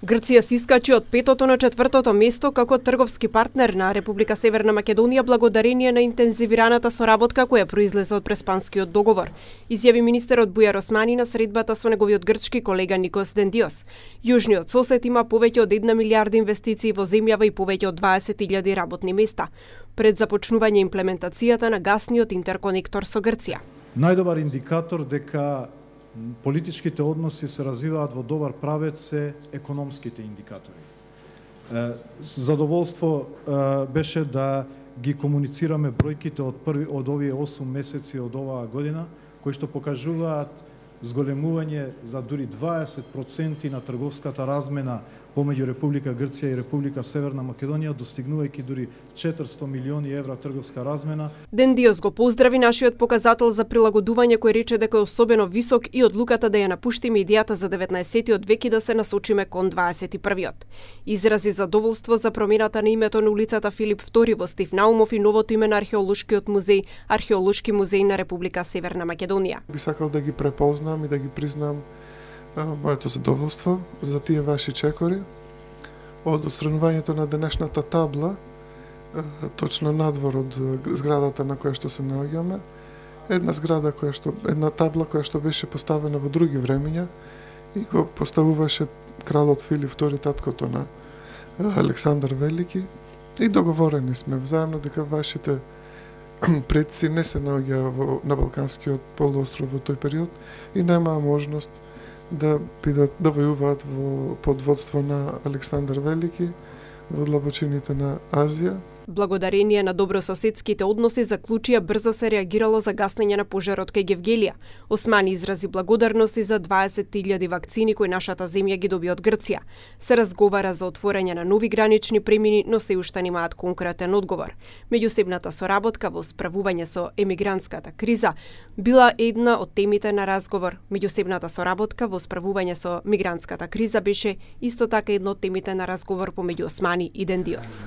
Грција се искачи од 5-то на 4-то место како трговски партнер на Република Северна Македонија благодарение на интензивираната соработка која произлезе од Преспанскиот договор, изјави министерот Бујар Османи на средбата со неговиот грчки колега Никос Дендиос. Јужниот сосед има повеќе од 1 милиарда инвестиции во земјава и повеќе од 20.000 работни места пред започнување имплементацијата на гасниот интерконектор со Грција. Најдобар индикатор дека политичките односи се развиваат во добар правец се економските индикатори. Задоволство беше да ги комуницираме бројките од овие 8 месеци од оваа година, кои што покажуваат зголемување за дури 20% на трговската размена помеѓу Република Грција и Република Северна Македонија, достигнувајќи дури 400 милиони евра трговска размена. Дендиос го поздрави нашиот показател за прилагодување, кој рече дека е особено висок и одлуката да ја напуштиме идејата за 19-тиот век и да се насочиме кон 21-тиот. Изрази задоволство за промената на името на улицата Филип II во Стив Наумов и новото име на археолошкиот музеј, Археолошки музеј на Република Северна Македонија. Би сакал да ги препознам и да ги признам моето задоволство за тие ваши чекори од отстранувањето на денешната табла точно надвор од зградата на која што се наоѓаме. Една табла која што беше поставена во други времења и го поставуваше кралот Филип II, таткото на Александар Велики, и договорени сме взаемно дека вашите предци не се наоѓаа на Балканскиот полуостров во тој период и немаа можност да војуваат под водство на Александар Велики во длабочините на Азија. Благодарение на добрососедските односи заклучија брзо се реагирало за гаснење на пожарот кај Гевгелија. Османи изрази благодарности за 20.000 вакцини кои нашата земја ги доби од Грција. Се разговара за отворање на нови гранични премини, но се уште немаат конкретен одговор. Меѓусебната соработка во справување со емигрантската криза била една од темите на разговор. Меѓусебната соработка во справување со мигрантската криза беше исто така една од темите на разговор помеѓу Османи и Дендиос.